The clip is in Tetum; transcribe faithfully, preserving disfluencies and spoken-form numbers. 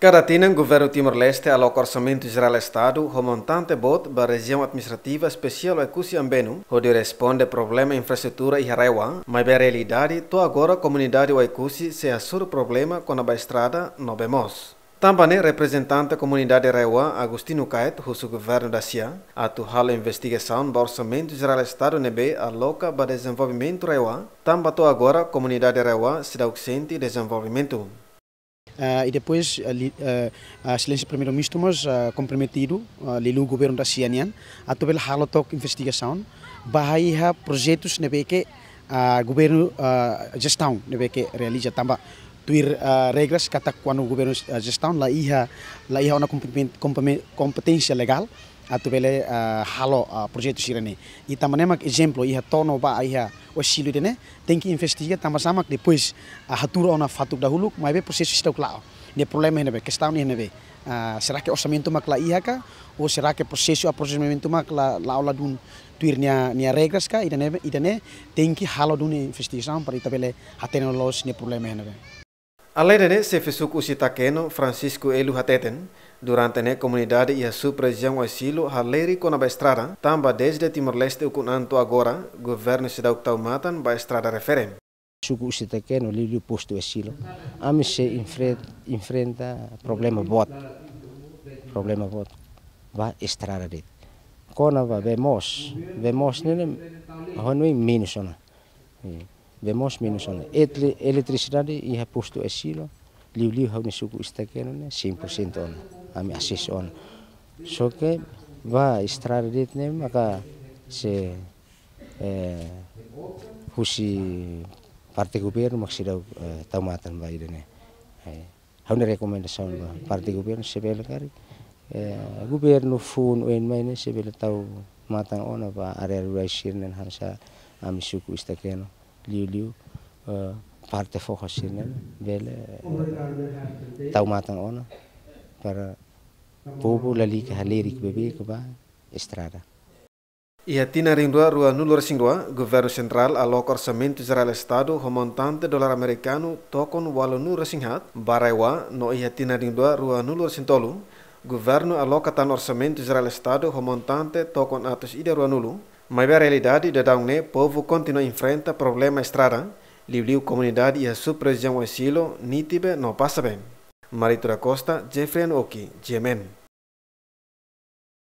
Kada tinan, Governu Timor-Leste aloka orsamentu jerál Estadu ho montante boot ba Rejiaun Administrativa Espesiál Oekusi Ambenu, hodi responde problema infraestrutura iha RAEOA, maibé realidade to'o agora komunidade Oekusi sei hasoru problema kona-ba estrada no bee moos. Tanba ne'e, reprezentante komunidade RAEOA, Agostinho Kaet, husu governu dasia atu halo investigasaun ba orsamentu jerál Estadu ne'ebé aloka ba dezenvolvimentu RAEOA, tanba to'o agora komunidade RAEOA seidauk sente dezenvolvimentu. Ah, e depois, ah, li-, ah, ah, Exelénsia Primeiru-Ministru mós, ah, komprometidu, ah, liuliu governu dasia nian, atu bele halo took investigasaun ba iha projetus ne'ebé ke, ah, governu, ah, jestaun ne'ebé ke realiza, tanba tuir, ah, regras katak kuandu governu, ah, jestaun la iha, la iha ona kompe-, kompe-, kompeténsia legál atu bele, ah, halo, ah, projetu sira-ne'e. I tanba ne'e mak ezemplu iha to'o no ba iha Oesilo ida-ne'e, tenke investiga tanba sá mak depois, ah, hatuur ona fatuk dahuluk, maibé prosesu seidauk la'o. Ne'e problema iha ne'ebé, kestaun iha ne'ebé. Ah, será ke orsamentu mak la iha ka? Ou será ke prosesu aprosimentu mak la, la'o ladún tuir nia, nia regras ka? Ida-ne'e, ida-ne'e tenke halo duni investigasaun para ita bele hatene loos nia problema iha ne'ebé. Alende ne'e, Xefe Suku Husi Takeno, Francisco Elu hateten, durante ne'e komunidade iha sub-rejiaun Oesilo halerik kona-ba estrada, tanba dezde Timor-Leste ukun an to'o agora, governu seidauk tau matan ba estrada refere. Suku Husi Takeno, liuliu postu Oesilo, ami sei enfre-, enfrenta problema boot. Problema boot ba estrada de'it. Kona-ba bee moos, bee moos ne'e, ne'e, hanoin menus ona. Eh, bee moos menus ona. Etle-, eletrisidade iha postu Oesilo, liuliu ha'u-nia suku Husi Takeno ne'e, cem por cento ona. Ami asesu ona. Só ke ba estrada de'it ne'e maka se, eh, husi parte governu mak seidauk, eh, tau matan ba ida-ne'e. Eh, ha'u-nia rekomendasaun ba parte governu, se bele karik, eh, governu funu oin mai ne'e, se bele tau matan ona ba área rurais sira-ne'e hanesan ami suku Husi Takeno, liuliu, eh, parte foho sira-ne'e, bele, eh, tau matan ona para povu lalika halerik beibeik ba estrada. Iha tinan rihun rua ruanulu-resin-rua, Governu Sentrál aloka orsamentu jerál Estadu ho montante dolar amerikanu tokon ualunulu-resin-haat ba RAEOA, no iha tinan rihun rua ruanulu-resin-tolu, governu aloka tan orsamentu jerál Estadu ho montante tokon atus ida ruanulu, maibé realidade daudaun ne'e povu kontinua enfrenta problema estrada, liuliu komunidade iha sub-rejiaun Oesilo, Nitibe no Passabe. Marito da Costa, Jeffrey Oki, G M N.